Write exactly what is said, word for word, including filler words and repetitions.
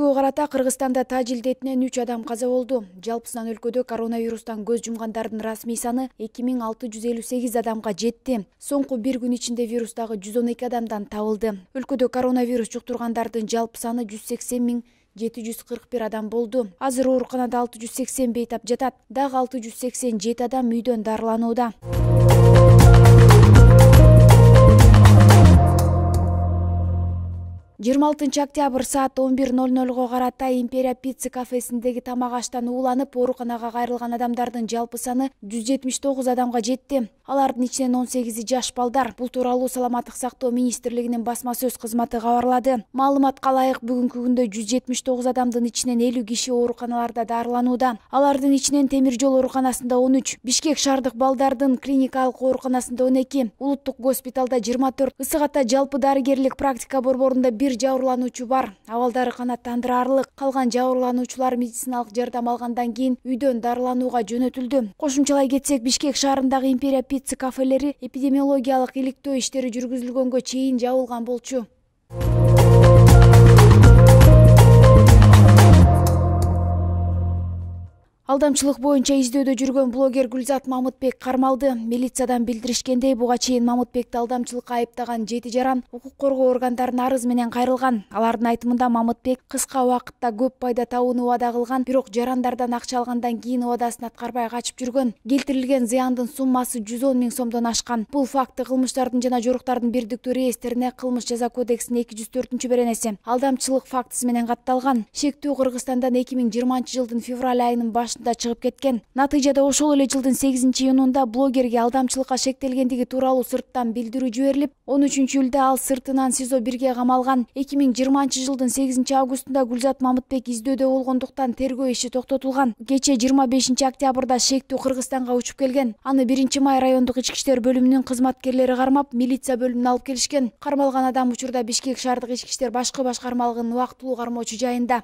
Өлкөгө карата Кыргызстанда таж илдетинен үч адам каза болду. Жалпысынан өлкөдө коронавирустан көз жумгандардын расмий саны эки миң алты жүз элүү сегиз адамга жетти. Соңку бир күн ичинде вирустагы жүз он эки адамдан табылды. Өлкөдө коронавирус жуктургандардын жалпы саны жүз сексен миң жети жүз кырк бир адам болду. Азыр ооруканада алты жүз сексен бейтап жатат. Дагы алты жүз сексен жети адам үйдөн дарыланууда. жыйырма алтынчы октябрь саат он бир ноль нольго карата Империя пицца кафесиндеги тамак аштан ууланып ооруканага кайрылган адамдардын жалпы саны жүз жетимиш тогуз адамга жетти. Алардын ичинен он сегизи жаш балдар. Бул тууралуу Саламаттык сактоо министрлигинин басма сөз кызматы кабарлады. Маалыматка ылайык бүгүнкү күндө жүз жетимиш тогуз адамдын ичинен элүү киши ооруканаларда дарыланууда. Алардын ичинен Темир жол ооруканасында он үч, Бишкек шаардык балдардын клиникалык ооруканасында он эки, Улуттук госпиталда жыйырма төрт, Ысык Ата жалпы дарыгерлик практика борборунда бир жабырлануучу бар. Абалдары канааттандырарлык. Калган жабырлануучулар медициналык жардам алгандан кийин үйдөн дарыланууга жөнөтүлдү. Кошумчалай кетсек, Бишкек шаарындагы Империя пицца кафелери эпидемиологиялык иликтөө иштери жүргүзүлгөнгө чейин жабылган болчу. Алдамчылык боюнча издөөдө жүргөн блогер Гүлзат Мамытбек кармалды. Милициядан билдиришкендей, буга чейин Мамытбекти алдамчылыкка айыптаган жети жаран укук коргоо органдарына арыз менен кайрылган. Алардын айтымында Мамытбек кыска убакытта көп пайда табууну убада кылган, бирок жарандардан акча алгандан кийин убадасын аткарбай качып жүргөн. Келтирилген зыяндын суммасы жүз он миң сомдон ашкан. Бул факты кылмыштардын жана жоруктардын бирдиктүү реестрине Кылмыш жаза кодексинин эки жүз төртүнчү беренеси алдамчылык фактысы менен катталган. Шектүү Кыргызстандан эки миң жыйырманчы жылдын февраль айынын башында да чыгып кеткен. Натыйжада ошол эле жылдын сегизинчи июнунда блогерге алдамчылыкка шектелгендиги тууралуу сырттан билдирүү жиберилип, он үчүнчү июлда ал сыртынан СИЗО бирге камалган. эки миң жыйырманчы жылдын сегизинчи августунда Гүлзат Мамытбек издөөдө болгондуктан тергөө иши токтотулган. Кечээ жыйырма бешинчи октябрда шектүү Кыргызстанга учуп келген. Аны биринчи май райондук ички иштер бөлүмүнүн кызматкерлери кармап, милиция бөлүмүнө алып келишкен. Кармалган адам учурда Бишкек шаардык ички иштер башкы башкармалыгынын убактылуу кармоочу жайында.